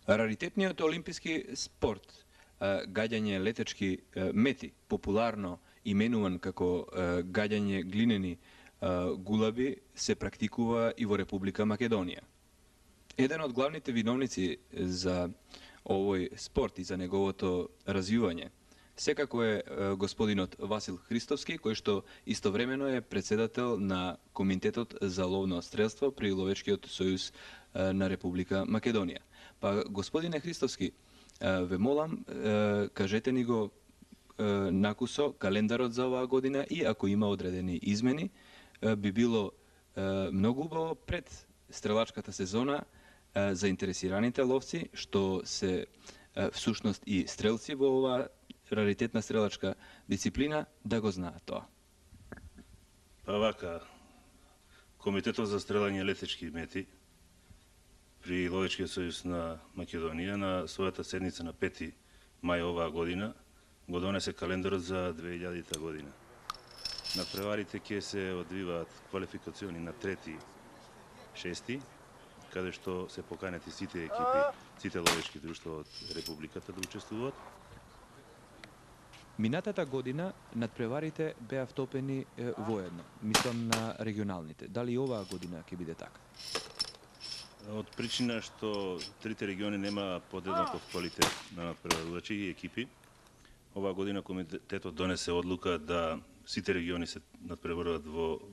Раритетниот олимписки спорт, гаѓање летечки мети, популарно именуван како гаѓање глинени гулаби, се практикува и во Република Македонија. Еден од главните виновници за овој спорт и за неговото развивање секако е господинот Васил Христовски, кој што истовремено е председател на Комитетот за ловно стрелство при Ловечкиот сојуз на Република Македонија. Па, господине Христовски, ве молам, кажете ни го накусо календарот за оваа година и ако има одредени измени, би било многу убаво пред стрелачката сезона заинтересираните ловци, што се всушност и стрелци во оваа раритетна стрелачка дисциплина, да го знаат тоа. Па вака, Комитетот за стрелање летечки мети при Ловечкиот сојуз на Македонија на својата седница на 5 мај оваа година го донесе календарот за 2000 година. На преварите ќе се одвиваат квалификациони на 3-6, каде што се поканети сите екипи, сите ловечки друштва од Републиката да учествуваат. Минатата година надпреварите беа втопени воедно, мислам на регионалните. Дали оваа година ќе биде така? Од причина што трите региони нема подеднаков квалитет на надпреварувачи и екипи, оваа година комитетот донесе одлука да сите региони се надпреваруваат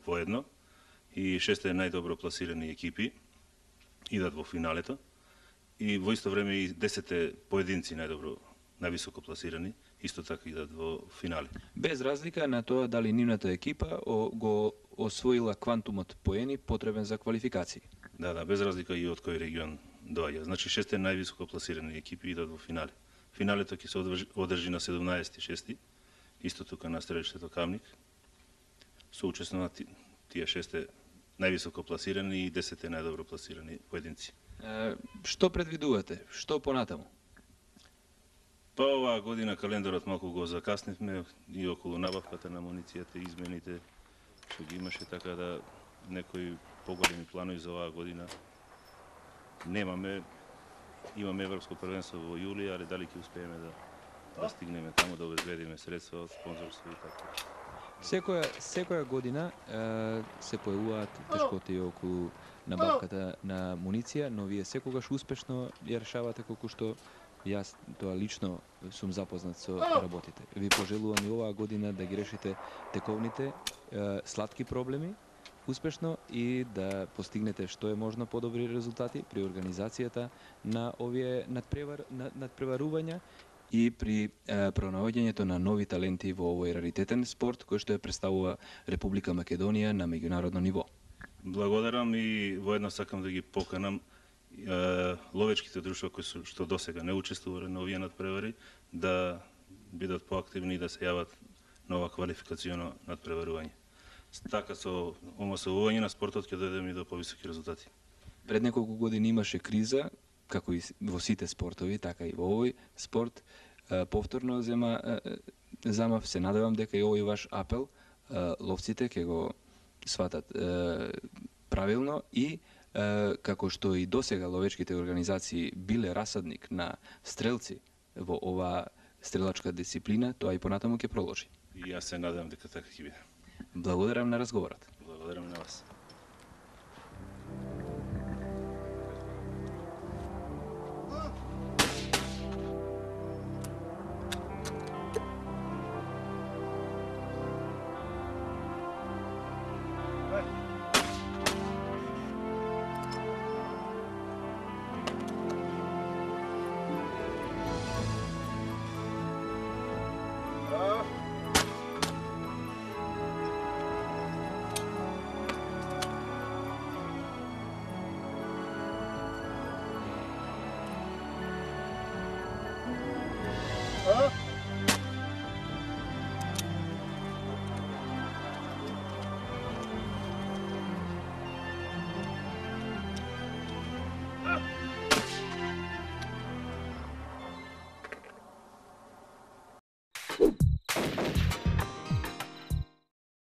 воедно и 6 најдобро пласирани екипи идат во финалето и во исто време и 10 поединци највисоко пласирани исто така идат во финали. Без разлика на тоа дали нивната екипа го освоила квантумот поени потребен за квалификации. Да, без разлика и од кој регион доаѓа. Значи 6 највисоко пласирани екипи идат во финале. Финалето ќе се одржи на 17.6. Исто тука на стрелиштето Камник. Со учество на тие 6 највисоко пласирани и 10 најдобро пласирани поединци. Што предвидувате? Што понатаму? Па оваа година календарот малку го закаснивме и околу набавката на амуницијата и измените што ги имаше, така да некои поголеми планови за оваа година немаме. Имаме Европско првенство во јули, али дали ќе успееме да стигнеме таму, да обезбедиме средства од спонзорство и така. Секоја година се појавуваат тешкоти околу набавката на амуниција, но вие секогаш успешно ја решавате, колку што јас тоа лично сум запознат со работите. Ви пожелувам и оваа година да ги решите тековните сладки проблеми успешно и да постигнете што е можно подобри резултати при организацијата на овие надпреварувања и при пронаоѓањето на нови таленти во овој раритетен спорт кој што ја представува Република Македонија на меѓународно ниво. Благодарам и воедно сакам да ги поканам ловечките друштва кои што досега не учествувале на овие надпревари да бидат поактивни и да се јават на ова квалификацијно надпреварување. Така со омасовување на спортот ќе дојдеме и до повисоки резултати. Пред неколку години имаше криза, како и во сите спортови, така и во овој спорт. Повторно замав, се надевам дека и овој ваш апел ловците ќе го сватат правилно и како што и досега ловечките организации биле расадник на стрелци во оваа стрелачка дисциплина, тоа и понатаму ќе проложи. И јас се надевам дека така ќе биде. Благодарам на разговорот. Благодарам на вас.